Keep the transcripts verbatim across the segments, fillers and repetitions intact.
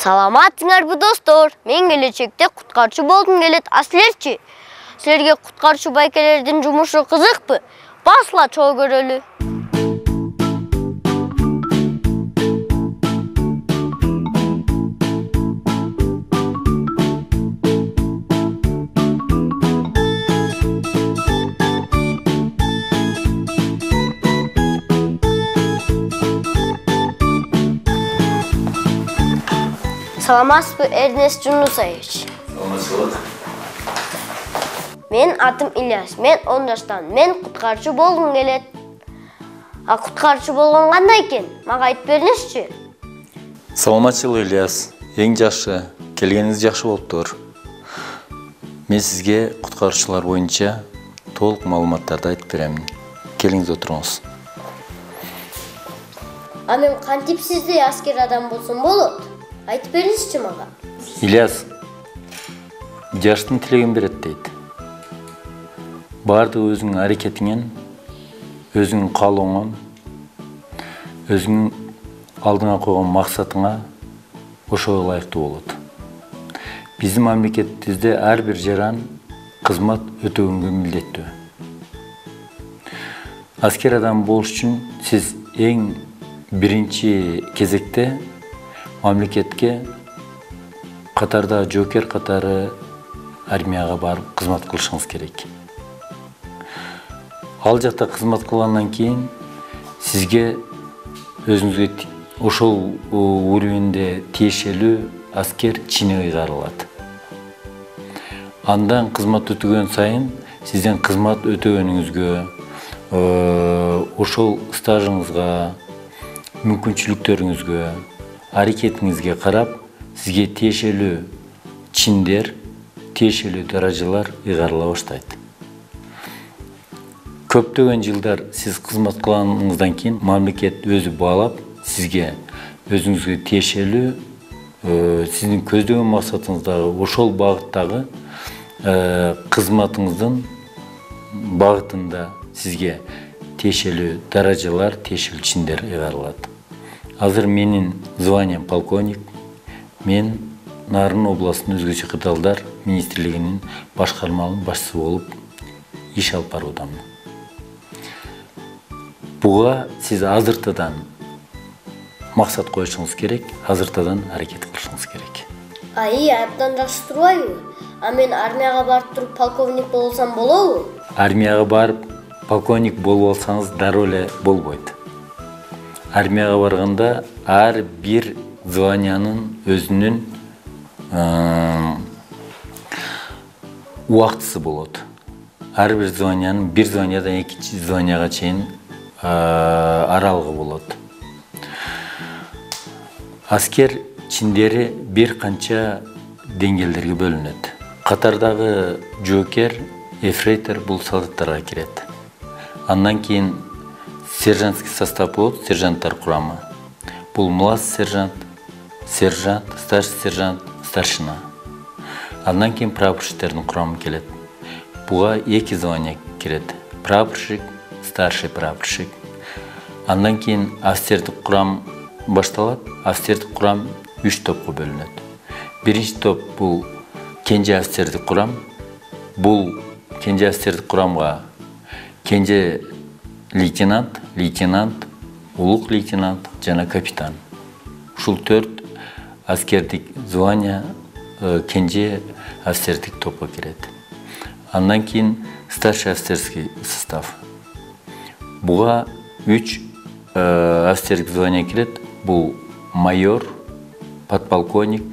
Саламатсыңарбы достор? Мен келечекте куткарчы болгум келет. А силерчи? Силерге куткарчы байкелердин жумушу кызыкпы? Басла чоо көрөлү. Саламатсызбы, Эрнест Жунусович? Саламатсызбы. Мен атым Ильяс. Мен он жаштан. Мен куткарчы болгум келет. А куткарчы болгон кандай экен? Мага айтып бериңизчи. Саламатчылык, Ильяс. Эң жакшы. Келгениңиз жакшы болуптур. Мен сизге куткарчылар боюнча толук маалыматтарды айтып берем. Келиңиз отуруңуз. А мен кантип сиздей аскер адам болсом болот? Айтып бериңизчи мага. Ильяс, жаштын тилеген берет дейт. Бардыгы өзүңүн аракетиңен, өзүңүн каалооңон, өзүңүн алдыңа койгон максатыңа ошого ылайыктуу болот. Биздин мамлекетибизде ар бир жаран кызмат өтөгөнгө милдеттүү. Аскер адам болуш үчүн сиз эң биринчи кезекте мамлекетке катарда жоокер катары армияга барып кызмат кылышыңыз керек. Ал жакта кызмат кылгандан кийин сизге өзүңүзгө ошол уровенде тиешелүү аскер чини ыйгарылат. Андан кызмат өтөгөн сайын сиздин кызмат өтөгөнүңүзгө, ошол стажыңызга, мүмкүнчүлүктөрүңүзгө, аракетиңизге карап, сизге тиешелүү чиндер, тиешелүү даражалар ыйгарыла баштайт. Көптөгөн жылдар сиз кызмат кылганыңыздан кийин мамлекет өзү баалап, сизге өзүңүзгө тиешелүү, сиздин көздөгөн максатыңыздагы ошол багыттагы кызматыңыздын багытында сизге тиешелүү даражалар, тиешелүү чиндер ыйгарылат. Азыр менин званиям полковник. Мен Нарын областынын өзгөчө кырдаалдар министрлигинин башкармалык башчысы болуп иш алып баруудамын. Буга сиз азыртадан максат коюшуңуз керек, азыртадан аракет кылышыңыз керек. Ай, абдан жакшы турбайбы? А мен армияга барып туруп полковник болсам болобу? Армияга барып полковник болуп алсаңыз дароо эле болбойт. Армияга барганда ар бир званиянын өзүнүн убактысы болот. Ар бир званиянын бир званиядан экинчи званияга чейин аралыгы болот. Аскер чиндери бир канча деңгээлдерге бөлүнөт. Катардагы жоокер, эфрейтор бул солдаттарга кирет. Андан кийин сержантский состав болот, сержанттар курамы. Бул младший сержант, сержант, старший сержант, старшина. Андан кийин прапорщиктердин курамы келет. Буга эки звания кирет. Прапорщик, старший прапорщик. Андан кийин офицердик курам башталат. Офицердик курам үч топко бөлүнөт. Биринчи топ бул кенже офицердик курам. Бул кенже офицердик курамга кенже лейтенант, лейтенант, улук лейтенант жана капитан. Ушул төрт аскердик звания кенже офицердик топко кирет. Андан кийин старший офицерский состав. Буга үч офицердик звания кирет. Бул майор, подполковник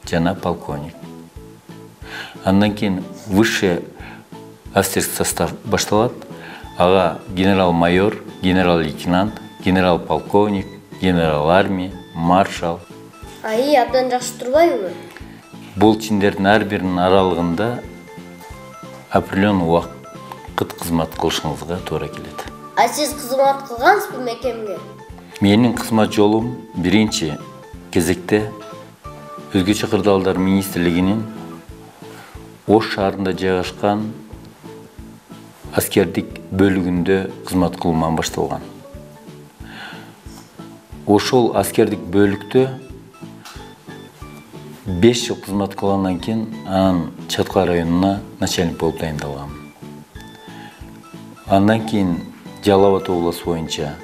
жана полковник. Андан кийин высший офицерский состав башталат. Ага генерал-майор, генерал-лейтенант, генерал-полковник, генерал армия, маршал. Ай, абдан жакшы турбайбы? Бул чиндердин ар биринин аралыгында определенный убакыт кызмат кылышыңызга туура келет. А сиз кызмат кылгансызбы мекемге? Менин кызмат жолум биринчи кезекте өзгөчө кырдаалдар министрлигинин Ош шаарында жайгашкан аскердик бөлүгүндө кызмат кылуудан башталган. Ошол аскердик бөлүктө беш жыл кызмат кылгандан кийин анан Чаткай районуна начальник болуп дайындалгам. Андан кийин Жалал Абад областы боюнча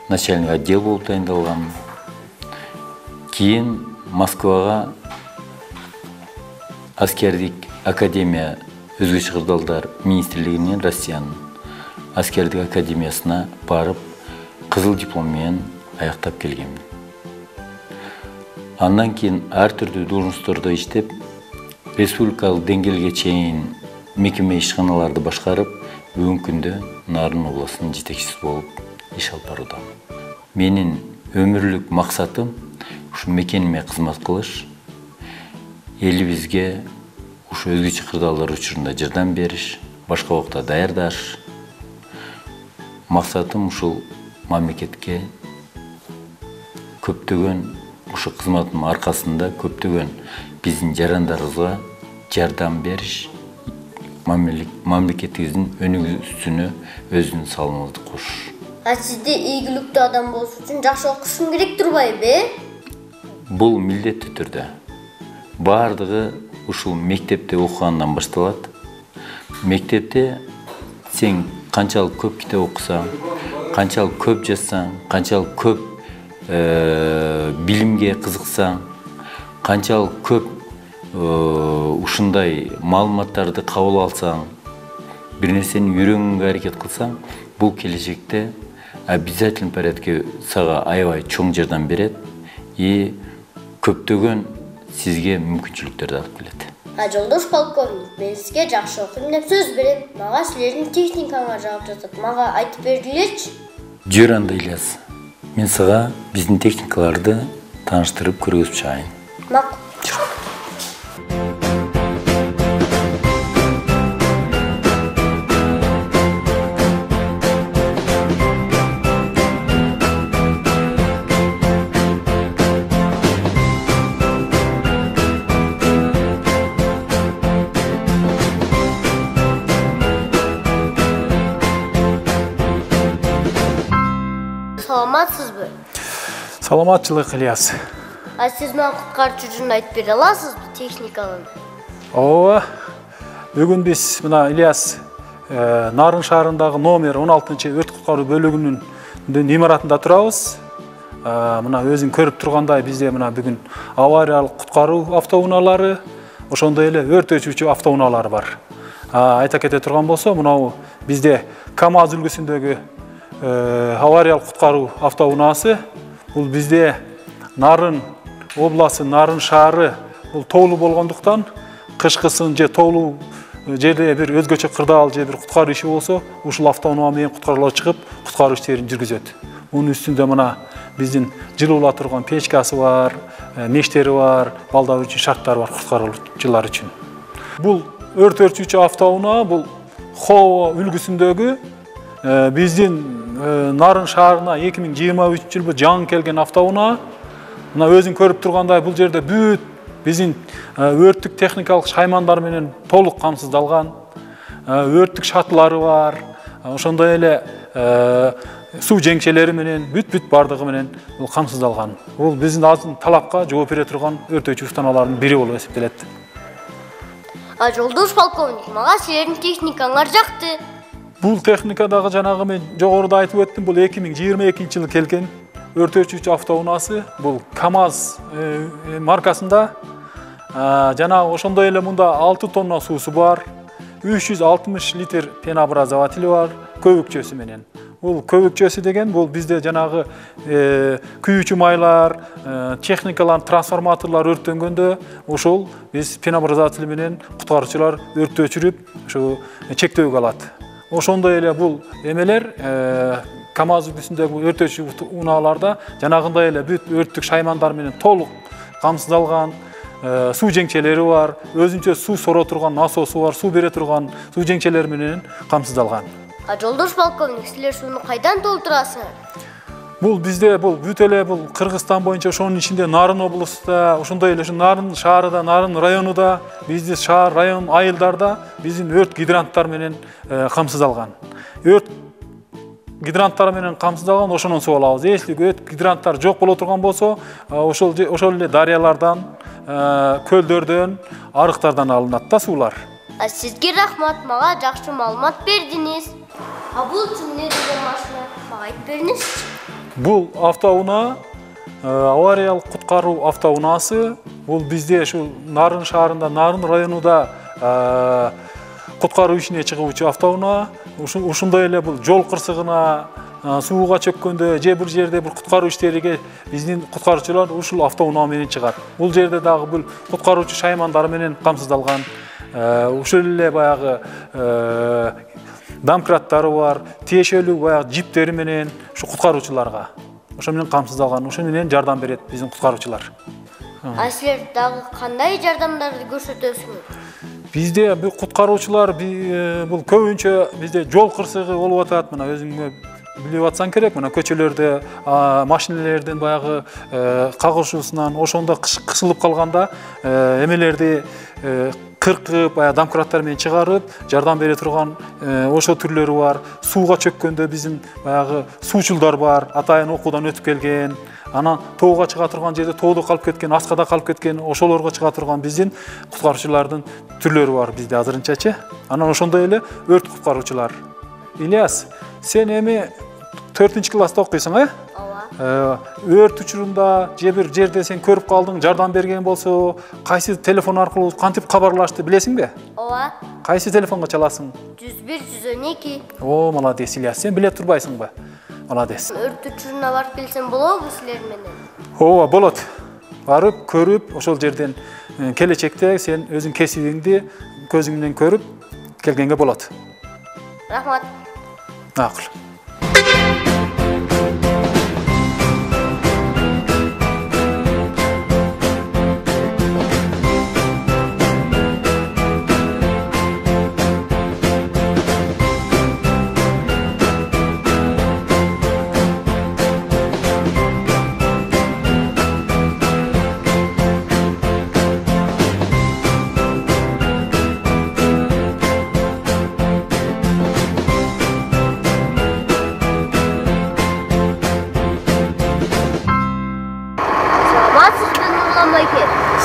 начальник отдел болуп дайындалгам. Кийин Москвага аскердик академия өзгөчө кырдаалдар министрлигинин Россиянын аскердик академиясына барып, кызыл диплом менен аяктап келгемин. Андан кийин ар түрдүү должносттордо иштеп, республикалык деңгээлге чейин мекеме ишканаларды башкарып, бүгүнкү күндө Нарын областынын жетекчиси болуп иш алып баруудамын. Менин өмүрлүк максатым ушу мекениме кызмат кылыш, элибизге ушу өзгөчө кырдаалдар учурунда жардам бериш, башка убакта даярдаш. Максатым ушул мамлекетке көптөгөн ушу кызматым аркасында көптөгөн биздин жарандарыбызга жардам бериш, мамлекетибиздин өнүгүүсүнө өзүнүн салымыңызды кошуш. А сизде ийгиликтүү адам болуш үчүн жакшы окушуң керек турбайбы? Бул милдеттүү түрдө. Бардыгы ушул мектепте окугандан башталат. Мектепте сен канчалык көп китеп окусаң, канчалык көп жазсаң, канчалык көп билимге кызыксаң, канчалык көп ушундай маалыматтарды кабыл алсаң, бир нерсени үйрөнгөнгө аракет кылсаң, бул келечекте обязательный порядке сага аябай чоң жардам берет и көптөгөн сизге мүмкүнчүлүктөрдү алып келет. А жолдош полковник, мен сизге жакшы окуйм деп сөз берем. Мага силердин техникаңар жагып жатат. Мага айтып бергилечи. Жөр анда Ильяс. Мен сага биздин техникаларды тааныштырып көргөзүп чыгайын. Макул. Саламатсызбы? Саламатчылык, Ильяс. А сиз мага куткарчу жөнүндө айтып бере аласызбы техниканын? Ооба. Бүгүн биз мына Ильяс Нарын шаарындагы номер он алтынчы өрт куткаруу бөлүгүнүн имаратында турабыз. Мына өзүң көрүп тургандай, бизде мына бүгүн авариялык куткаруу автоунаалары, ошондой эле өрт өчүүчү автоунаалар бар. Айта кете турган болсо, мына бизде КамАЗ үлгүсүндөгү авариялык куткаруу автоунаасы, бул бизде Нарын областы, Нарын шаары бул тоолуу болгондуктан, кышкысын же тоолуу жерде бир өзгөчө кырдаал же бир куткаруу иши болсо, ушул автоунаа менен куткаруулар чыгып, куткаруу иштерин жүргүзөт. Мунун үстүндө мына биздин жылуулар турган печкасы бар, мештери бар, балдар үчүн шарттары бар куткаруучулар үчүн. Бул өрт өчүүчү автоунаа бул Хово үлгүсүндөгү биздин Нарын шаарына эки миң жыйырма үчүнчү жылы жаңы келген автоунаа. Мына өзүң көрүп тургандай, бул жерде бүт биздин өрттүк техникалык шаймандар менен толук камсыздалган. Өрттүк шатылары бар. Ошондой эле суу жеңчелери менен бүт-бүт бардыгы менен бул камсыздалган. Бул биздин азыр талапка жооп бере турган өрт өчүү устаналарынын бири болуп эсептелет. А жолдош полковник, мага силердин техникаңар жакты. Бул техникадагы жанагы мен жогоруда айтып өттүм, бул эки миң жыйырма экинчи жылы келген өрт өчүүчү автоунаасы. Бул КамАЗ маркасында. Жанагы ошондой эле мында алты тонна суусу бар, үч жүз алтымыш литр пенообразователь бар, көбүкчөсү менен. Бул көбүкчөсү деген бул бизде жанагы күйүүчү майлар, техникалар, трансформаторлор өрттөнгөндө ошол биз пенообразователь менен куткаруучулар өрттү өчүрүп, ошо чектөөгө алат. Ошондой эле бул эмелер КамАЗ үлгүсүндөгү өрт өчүү унааларда жанагындай эле бүт өрттүк шаймандар менен толук камсыздалган, суу жеңчелери бар, өзүнчө суу соро турган насосу бар, суу бере турган суу жеңчелери менен камсыздалган. А жолдош полковник, силер сууну кайдан толтурасыңар? Бул бизде бул бүт эле бул Кыргызстан боюнча ошонун ичинде Нарын облустунда, ошондой эле ушу Нарын шаарында, Нарын районунда, биздин шаар, район, айылдарда биздин өрт гидранттар менен камсыздалган. Өрт гидранттар менен камсыздалган, ошонун суу алабыз. Если өрт гидранттар жок боло турган болсо, ошол ошол эле дарыялардан, көлдөрдөн, арыктардан алынат да суулар. Сизге рахмат, мага жакшы маалымат бердиңиз. А бул эмне деген машина? Мага айтып бериңизчи. Бул автоунаа авариялык куткаруу автоунаасы. Бул бизде ушу Нарын шаарында, Нарын районунда куткаруу ишине чыгуучу автоунаа. Ушундай эле бул жол кырсыгына, сууга чөккөндө же бир жерде бир куткаруу иштериге биздин куткаруучулар ушул автоунаа менен чыгат. Бул жерде дагы бул куткаруучу шаймандар менен камсыздалган. Ушул эле баягы домкраттары бар, тиешелүү баягы жиптери менен ушу куткаруучуларга ошо менен камсыздалган, ошо менен жардам берет биздин куткаруучулар. А силер дагы кандай жардамдарды көрсөтөсүңөр? Бизде бул куткаруучулар бул көбүнчө бизде жол кырсыгы болуп атат. Мына өзүңө билип атсаң керек, мына көчөлөрдө машиналердин баягы кагышуусунан ошондо кысылып калганда эмелерди кыркып, домкраттар менен чыгарып, жардам бере турган ошо түрлөрү бар. Сууга чөккөндө биздин баягы суучулдар бар, атайын окуудан өтүп келген. Анан тоого чыга турган жерде тоодо калып кеткен, аскада калып кеткен, ошолорго чыга турган биздин куткаруучулардын түрлөрү бар бизде азырынчачы. Анан ошондой эле өрт куткаруучулар. Ильяс, сен эми төртүнчү класста окуйсуң, э? Ооба. Өрт учурунда же бир жерде сен көрүп калдың, жардам берген болсо, кайсы телефон аркылуу кантип кабарлашты билесиңби? Ооба. Кайсы телефонго чаласың? жүз бир жүз он эки. О, молодец, Ильяс, сен биле турбайсыңбы? Молодец. Өрт учуруна барып келсем болобу силер менен? Ооба, болот. Барып, көрүп, ошол жерден келечекте сен өзүң кесибиңди көзүң менен көрүп келгенге болот. Рахмат. Макул.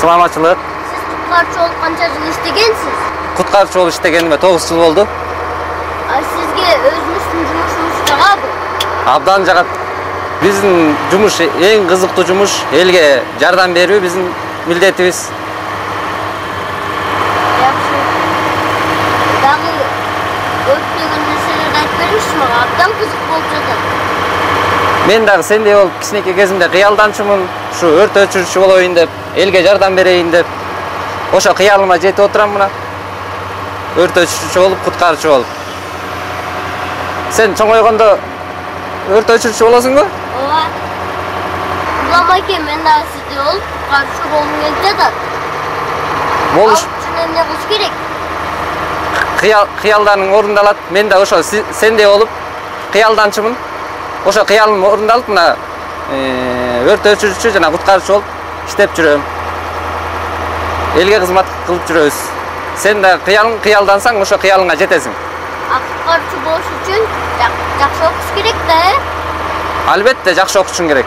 Саламатчылык. Сиз куткаруучу болуп канча жыл иштегенсиз? Куткаруучу болуп иштегениме тогуз жыл болду. А сизге өзүңүздүн жумушуңуз жагабы? Абдан жагат. Биздин жумуш эң кызыктуу жумуш, элге жардам берүү биздин милдетибиз. Жакшы. Дагы көптөгөн нерселерди айтып бериңизчи мага, абдан кызык болуп жатат. Мен дагы сендей болуп кичинекей кезимде кыялданчумун, ушу өрт өчүрүүчү болоюн деп, элге жардам берейин деп. Ошо кыялыма жетип отурам мына. Өрт өчүрүүчү болуп, куткаруучу болуп. Сен чоңойгондо өрт өчүрүүчү болосуңбу? Ооба. Улам айке, мен дагы сиздей болуп, куткаруучу болгум келип жатат. Болуш үчүн эмне кылыш керек? Кыял кыялдарың орундалат. Мен да ошо сендей болуп кыялданчумун. Ошо кыялым орундалып, мына өрт өчүрүүчү жана куткаруучу болуп иштеп жүрөм. Элге кызмат кылып жүрөбүз. Сен да кыялың кыялдансаң, ошо кыялыңа жетесиң. А куткаруучу болуш үчүн жакшы окуш керек да, э? Албетте жакшы окушуң керек.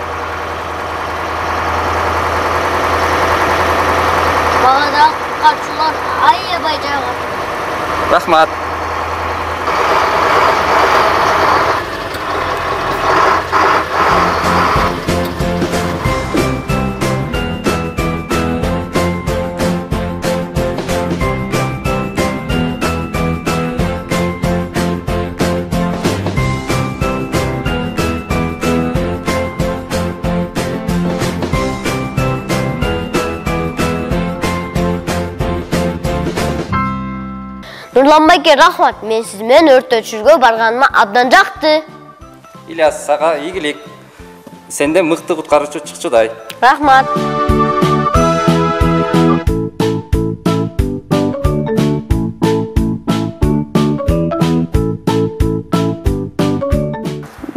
Мага да куткаруучулар аябай жагат. Рахмат. Нурлан байке, рахмат. Мен сиз менен өрт өчүрүүгө барганыма абдан жакты. Ильяс, сага ийгилик. Сенде мыкты куткаруучу чыкчудай. Рахмат.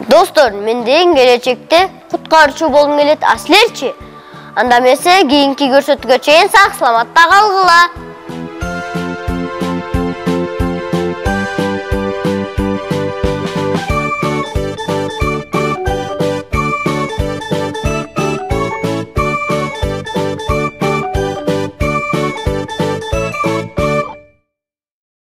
Достор, мен деген келечекте куткаруучу болгум келет, а силерчи? Анда эмесе кийинки көрсөтүүгө чейин сак саламатта калгыла.